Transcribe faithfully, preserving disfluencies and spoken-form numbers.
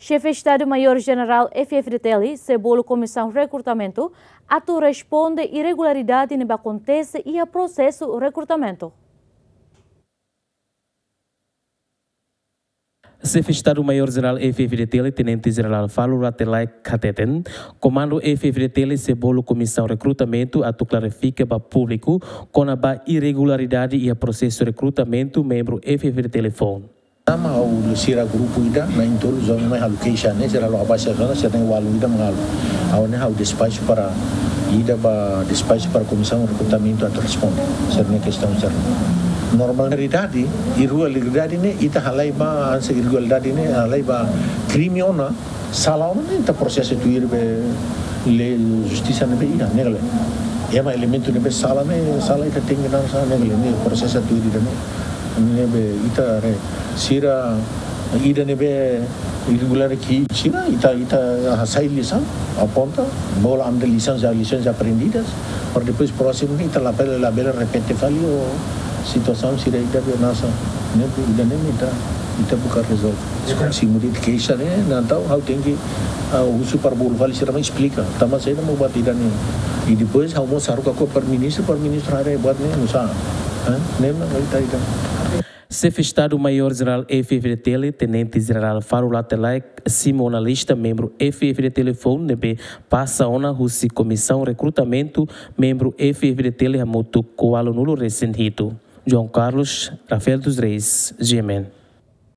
Xefe Estadu Maiór Jenerál F-FDTL sei bolu Komisaun Rekrutamentu atu responde irregularidade ne'ebé akontese iha prosesu rekrutamentu. Xefe Estadu Maiór Jenerál F-FDTL, Tenente Jenerál Falo Rate Laek hateten, Komandu F-FDTL sei bolu Komisaun Rekrutamentu atu klarifika ba públiku kona-ba irregularidade iha prosesu rekrutamentu membru F-FDTL foun. Tanba ha'u sira grupu ida na'in-tolu joven mai halo keixa ne'e, sira halo abaixo asinatura, sira-nia ualu ida mak halo. Ha'u ne'e ha'u despaxu para ida ba despaxu para Komisaun Rekrutamentu atu responde. Sira-nia kestaun sira. Normalidade, irregularidade ne'e ita halai ba, hanesan irregularidade ne'e halai ba krime ona, sala ona ne'e ita prosesa tuir be lei justisa ne'ebé iha, ne'e ka lae. Ema elementu ne'ebé sala ne'e, sala ita tenke hanesan ne'e ka lae, ne'e prosesa tuir ida ne'e. Ne'ebé ita haree sira ida ne'ebé irregulár ki'ik sira, ita, ita hasai lisaun, aponta, bolu ami-nia lisaun, lisaun aprendidas, para depois prósimu ne'e ita labele, labele repete fali o situasaun sira ida be hanesan ne'e, ida ne'e ita, ita buka rezolve. Se muda ita keixa ne'e, entaun ha'u tenke, ah, husu para bolu fali sira mai esplika. Tanba saida mak buat ida ne'e. I depois ha'u mós haruka ho para ministru, para ministru haree buat ne'e nusá. Eh? Ne'e mak ita ida. Xefe Estadu Maiór Jenerál F-FDTL, Tenente Jenerál Falo Rate Laek simu ona lista membru F-FDTL foun ne'ebé pasa ona husi Komisaun Rekrutamentu membru F-FDTL hamutuk ho ualunulu resin hitu. João Carlos, Rafael dos Reis, G M N.